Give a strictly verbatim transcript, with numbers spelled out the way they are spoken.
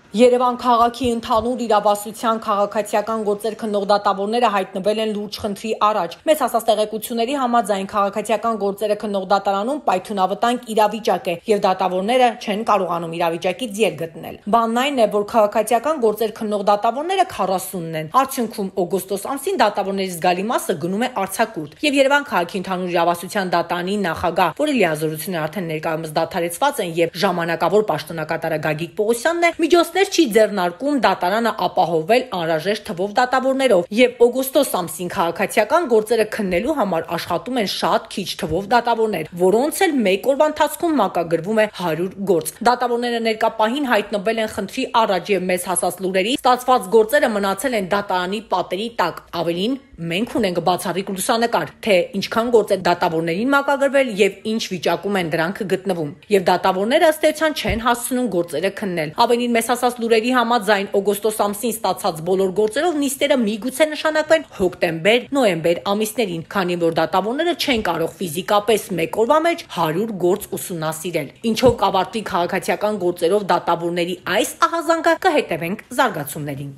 Երևան քաղաքի ընդհանուր իրավասության քաղաքացիական գործեր քննող դատավորները հայտնվել են լուրջ խնդրի առաջ։ Մեզ հասած տեղեկությունների համաձայն քաղաքացիական գործերը քննող դատարանում պայթյունավտանգ իրավիճակ է եւ դատավորները չեն կարողանում իրավիճակից ելք գտնել։ Բանն այն է, որ քաղաքացիական գործեր քննող դատավորները քառասունն են։ Արդյունքում օգոստոս ամսին դատավորների զգալի մասը գնում է արձակուրդ եւ Երևան քաղաքի ընդհանուր իրավասության դատարանի նախագահ, որի լիազորությունները արդեն ներկայումս դադարեցված են եւ ժամանակավոր պաշտոնակատարը Գագիկ Պողոսյանն է, միջոցներ չի ձեռնարկում դատարանը ապահովել անհրաժեշտ թվով դատավորներով եւ օգոստոս ամսին քաղաքացիական գործերը քննելու համար աշխատում են շատ քիչ թվով դատավորներ, որոնց էլ մեկ օրվա ընթացքում մակագրվում է հարյուր գործ։ Դատավորները ներկա պահին հայտնվել են խնդրի առաջ եւ մեզ հասած լուրերի ստացված գործերը մնացել են դատարանի պատերի տակ։ Ավելին, մենք ունենք բացառիկ լուսանկար, թե ինչքան գործ է դատավորներին մակագրվել եւ ինչ վիճակում են դրանք գտնվում։ Եվ դատավորները ըստ էության չեն հասցնում գործերը քննել։ Ավելին, մեզ հասած լուրերի համաձայն օգոստոս ամսին ստացած բոլոր գործերով նիստերը միգուցե նշանակվեն հոկտեմբեր, նոյեմբեր ամիսներին, քանի որ դատավորները չեն կարող ֆիզիկապես մեկ օրվա մեջ հարյուր գործ ուսումնասիրել։ Ինչով կավարտվի քաղաքացիական գործերով դատավորների այս ահազանգը, կհետևենք զարգացումներին։